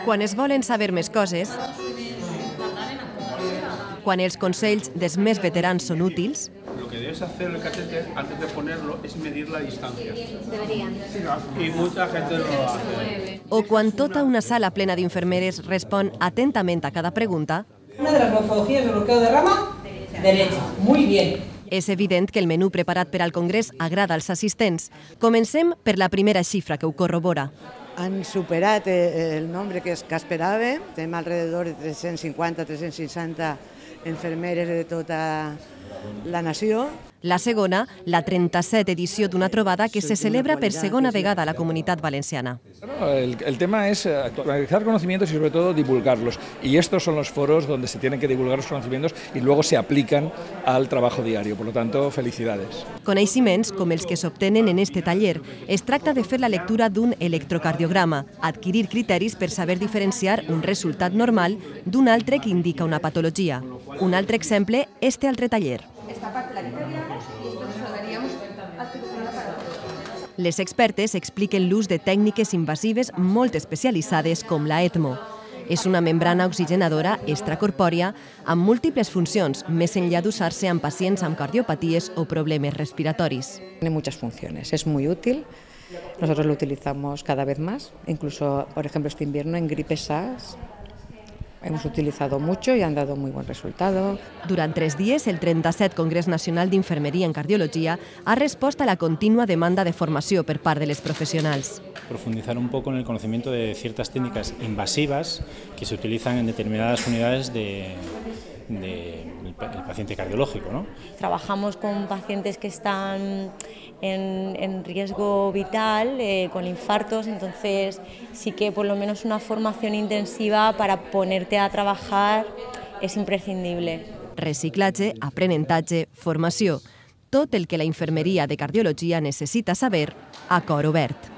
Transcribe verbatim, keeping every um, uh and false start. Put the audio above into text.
Quan es volen saber més coses, quan els consells dels més veterans són útils, lo que debes hacer el catéter antes de ponerlo es medir la distancia. Deberían. Y mucha gente no lo hace. o quan tota una sala plena d'infermeres respon atentament a cada pregunta, Una de las morfologías del bloqueo de rama, derecha. Muy bien. és evident que el menú preparat per al Congrés agrada als assistents. Comencem per la primera xifra que ho corrobora. Han superat el nombre que es esperava. Tenim alrededor de tres-cents cinquanta a tres-cents seixanta infermeres de tota la nació. La segona, la trenta-set edició d'una trobada que se celebra per segona vegada a la Comunitat Valenciana. El, el tema es actualizar conocimientos y sobre todo divulgarlos. Y estos son los foros donde se tienen que divulgar los conocimientos y luego se aplican al trabajo diario. Por lo tanto, felicidades. Coneixements com els que s'obtenen en este taller. Es tracta de fer la lectura d'un electrocardiograma, adquirir criteris per saber diferenciar un resultat normal d'un altre que indica una patologia. Un altre exemple, este altre taller. Esta parte la quitaríamos y esto nos lo daríamos al cirujano para todo. Les expertes expliquen l'ús de tècniques invasives molt especialitzades com la ECMO. És una membrana oxigenadora extracorpòria amb múltiples funcions, més enllà d'usar-se en pacients amb cardiopaties o problemes respiratoris. Tiene muchas funciones, es muy útil. Nosotros lo utilizamos cada vez más, incluso, por ejemplo, este invierno en gripe SARS. Hemos utilizado mucho y han dado muy buen resultado. Durant tres dies, el trenta-set Congrés Nacional d'Infermeria en Cardiologia ha respost a la contínua demanda de formació per part de les professionals. Profundizar un poco en el conocimiento de ciertas técnicas invasivas que se utilizan en determinadas unidades de, de el paciente cardiológico, ¿no? Trabajamos con pacientes que están en, en riesgo vital, eh, con infartos, entonces sí que por lo menos una formación intensiva para ponerte a trabajar es imprescindible. Reciclatge, aprenentatge, formació, tot el que la infermeria de cardiologia necessita saber a cor obert.